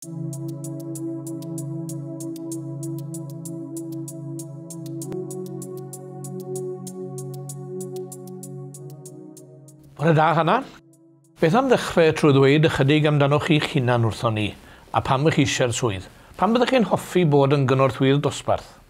Bore da, Hana. Beth am ddechrau trwy ddweud ychydig amdanoch chi'ch hunan wrthon ni, a pam ych chi eisiau'r swydd? Pam byddech chi'n hoffi bod yn gynorthwyydd dosbarth?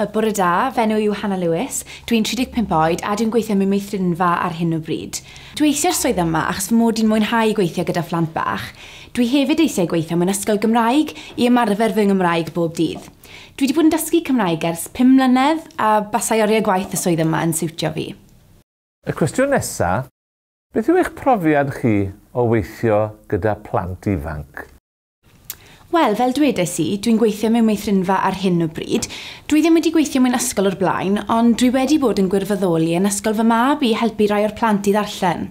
Bore da, fy enw yw Hannah Lewis, dwi'n 35 oed a dwi'n gweithio mewn meithrinfa ar hyn o bryd. Dwi eisiau'r swydd yma achos fy mod i'n mwynhau gweithio gyda phlant bach. Dwi hefyd eisiau gweithio mewn ysgol Gymraeg i ymarfer fy Nghymraeg bob dydd. Dwi wedi bod yn dysgu Cymraeg ers 5 mlynedd a basai oriau gwaith y swydd yma yn siwtio fi. Y cwestiwn nesaf, beth yw eich profiad chi o weithio gyda plant ifanc? Wel, fel dwedais i, dwi'n gweithio mewn meithrinfa ar hyn o bryd. Dwi ddim wedi gweithio mewn ysgol o'r blaen, ond dwi wedi bod yn gwirfoddoli yn ysgol fy mab i helpu rai o'r plant i ddarllen.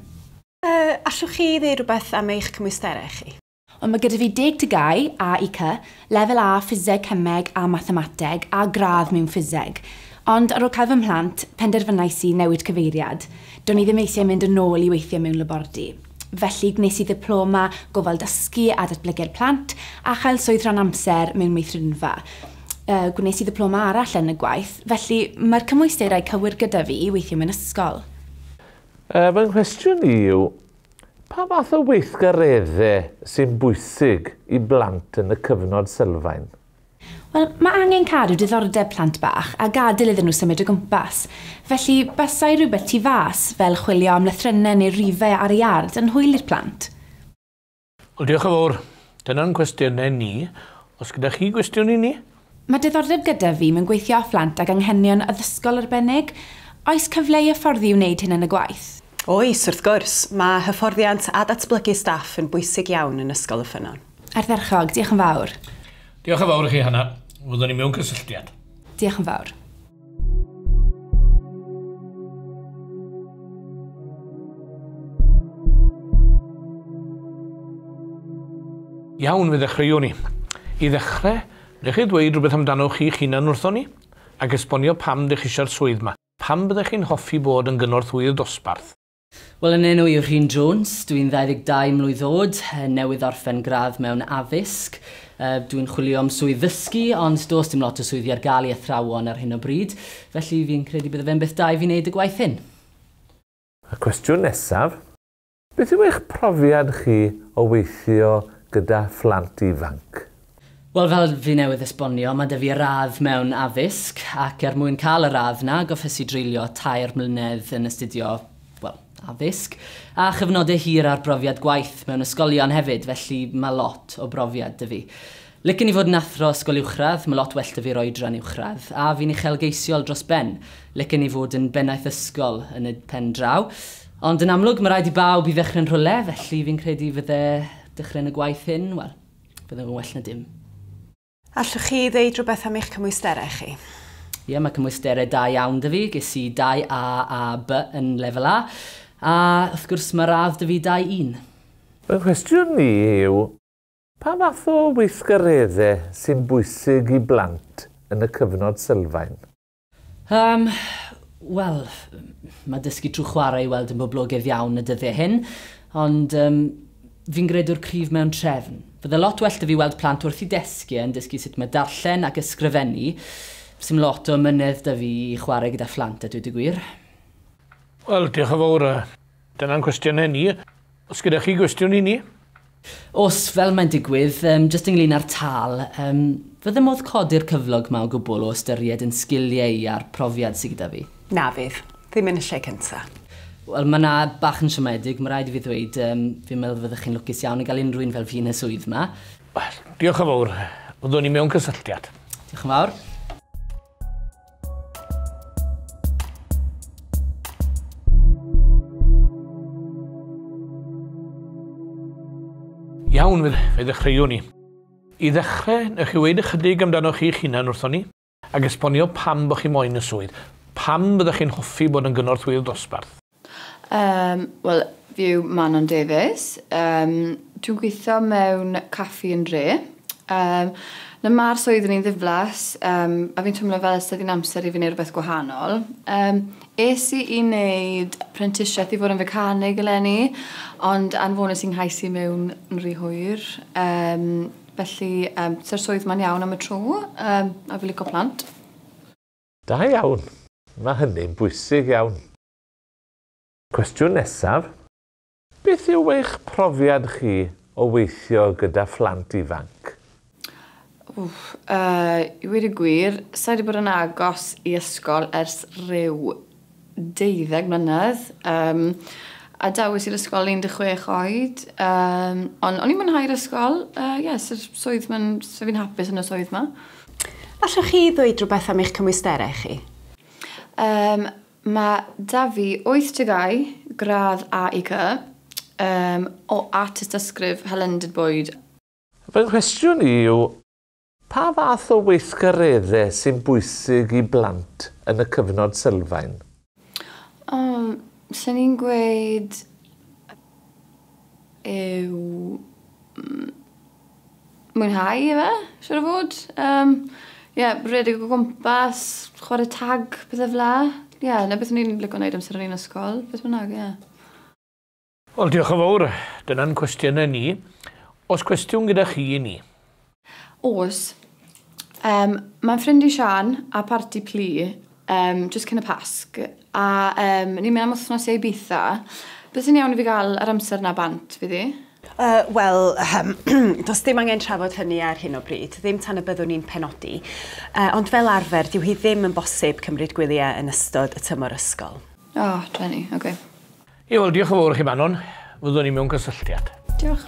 Allwch chi ddweud rhywbeth am eich cymwysterau chi? Ond mae gyda fi 10 TGAU, A i C, lefel A ffiseg, cemeg a mathemateg, a gradd mewn ffiseg. Ond ar ôl cael fy mhlant, penderfynais i newid cyfeiriad. Do'n i ddim eisiau mynd yn ôl i weithio mewn labordy. Felly gwnes i ddiploma gofal dysgu a datblygu'r plant a chael swydd rhan amser mewn meithrinfa. Gwnes i ddiploma arall yn y gwaith, felly mae'r cymwysterau cywir gyda fi i weithio mewn ysgol. Fy nghwestiwn i yw, pa fath o weithgareddau sy'n bwysig i blant yn y cyfnod sylfaen? Wel, mae angen cadw diddordeb plant bach a gadael iddyn nhw symud o gwmpas. Felly, basai rhywbeth tu fas, fel chwilio am lythrennau neu rifau ar y iard, yn hwyl i'r plant. Wel, diolch yn fawr. Dyna'n cwestiynau ni. Os gyda chi gwestiwn i ni? Mae diddordeb gyda fi mewn gweithio â phlant ag anghenion addysgol arbennig. Oes cyfle i hyfforddi i wneud hyn yn y gwaith? Oes, wrth gwrs. Mae hyfforddiant a datblygu staff yn bwysig iawn yn Ysgol y Ffynnon. Ardderchog, diolch yn fawr. Diolch yn fawr i chi, Hannah. Fyddwn ni mewn cysylltiad. Diolch yn fawr. Iawn, fe ddechreuwn ni. I ddechrau, wnewch chi ddweud rhywbeth amdano chi'ch hunan wrthon ni, ac esbonio pam dych chi eisiau'r swydd yma. Pam byddech chi'n hoffi bod yn gynorthwyydd dosbarth? Wel, yn enw i yw Rhun Jones, dwi'n 22 mlwydd oed, newydd orffen gradd mewn addysg. Dwi'n chwilio am swydd ddysgu, ond does dim lot o swyddi ar gael i athrawon ar hyn o bryd, felly fi'n credu bydde fe'n beth da i fi wneud y gwaith hyn. Y cwestiwn nesaf, beth yw eich profiad chi o weithio gyda phlant ifanc? Wel, fel fi newydd esbonio, mae 'da fi radd mewn addysg, ac er mwyn cael y radd 'na, goffes i dreulio 3 mlynedd yn astudio, wel, addysg, a chyfnodau hir ar brofiad gwaith mewn ysgolion hefyd, felly mae lot o brofiad 'da fi. Licen i fod yn athro ysgol uwchradd, mae lot well 'da fi'r oedran uwchradd, a fi'n uchelgeisiol dros ben. Licen i fod yn bennaeth ysgol yn y pen draw, ond yn amlwg mae rhaid i bawb i ddechrau'n rhywle, felly fi'n credu fydde dechrau'n y gwaith hyn, wel, fydde fe'n well na dim. Allwch chi ddeud rhywbeth am eich cymwysterau chi? Ie, mae cymwysterau da iawn 'da fi. Ges i 2 A a B yn lefel A, a wrth gwrs mae radd 'da fi 2-1. Fy nghwestiwn i yw, pa fath o weithgareddau sy'n bwysig i blant yn y cyfnod sylfaen? Wel, mae dysgu trwy chwarae i weld yn boblogaidd iawn y dyddiau hyn, ond fi'n gredwr cryf mewn trefn. Fydde lot well 'da fi weld plant wrth i desgiau yn dysgu sut mae darllen ac ysgrifennu. Sim lot o ymynedd 'da fi i chwarae gyda phlant, a dweud y gwir. Wel, diolch yn fawr. Dyna'n cwestiynau ni. Os gyda chi gwestiwn i ni? Os, fel mae'n digwydd, jyst ynglyn â'r tâl, fydde modd codi'r cyflog 'ma o gwbl o ystyried yn sgiliau i a'r profiad sydd gyda fi? Na fydd, ddim yn y lle cyntaf. Wel, mae 'na bach yn siomedig, mae rhaid i fi ddweud, fi'n meddwl fyddech chi'n lwcus iawn i gael unrhyw un fel fi yn y swydd 'ma. Wel, diolch yn fawr. Fyddwn ni mewn cysylltiad. Diolch yn fawr. Iawn, fe ddechreuwn ni. I ddechrau, newch chi weud ychydig amdano chi'ch hunan wrthon ni, ac esbonio pam bod chi moyn y swydd. Pam byddech chi'n hoffi bod yn gynorthwyydd dosbarth? Wel, fi yw Manon Davies. Dwi'n gweithio mewn caffi yn Dre. Na ma'r swydd yn un ddiflas, a fi'n teimlo fel sydd hi'n amser i fi wneud rhywbeth gwahanol. Es i i wneud prentisiaeth i fod yn fecanig eleni, ond anfonais i'n nghais i mewn yn rhy hwyr. Felly, sy'r swydd ma'n iawn am y tro, a fi licio plant. Da iawn. Mae hynny'n bwysig iawn. Cwestiwn nesaf. Beth yw eich profiad chi o weithio gyda phlant ifanc? Wff, i weud y gwir, sa i wedi bod yn agos i ysgol ers rhyw 12 mlynedd. A dawis i'r ysgol 16 oed. Ond o'n i'n mwynhau'r ysgol. Ie, sy'r swydd ma'n, so fi'n hapus yn y swydd ma. Allwch chi ddweud rhywbeth am eich cymwysterau chi? Mae da fi 8 TGAU, gradd A i C, o a tystysgrif hylendid bwyd. Fy nghwestiwn i yw, pa fath o weithgareddau sy'n bwysig i blant yn y cyfnod sylfaen? Swn i'n gweud yw mwynhau efe, siwr o fod. Yeah, redeg o gwmpas, chwarae tag, pethau fel 'na. Ie, yeah, na beth o'n i'n licio wneud amser o'n i'n ysgol, beth bynnag, ie. Yeah. Wel, diolch yn fawr. Dyna'n cwestiynau ni. Oes cwestiwn gyda chi i ni? Oes. Mae'n ffrind i Sian a parti plu, just cyn y Pasg, a ni'n mynd am wythnos i Ibiza. Beth sy'n iawn i fi gael yr amser na bant, fydd i? Wel, does dim angen trafod hynny ar hyn o bryd, ddim tan y byddwn ni'n penodi. Ond fel arfer, dyw hi ddim yn bosib cymryd gwyliau yn ystod y tymor ysgol. O, oh, drueni, oce. Okay. Ie, wel, diolch yn fawr chi, Manon. Fyddwn ni mewn cysylltiad. Diolch.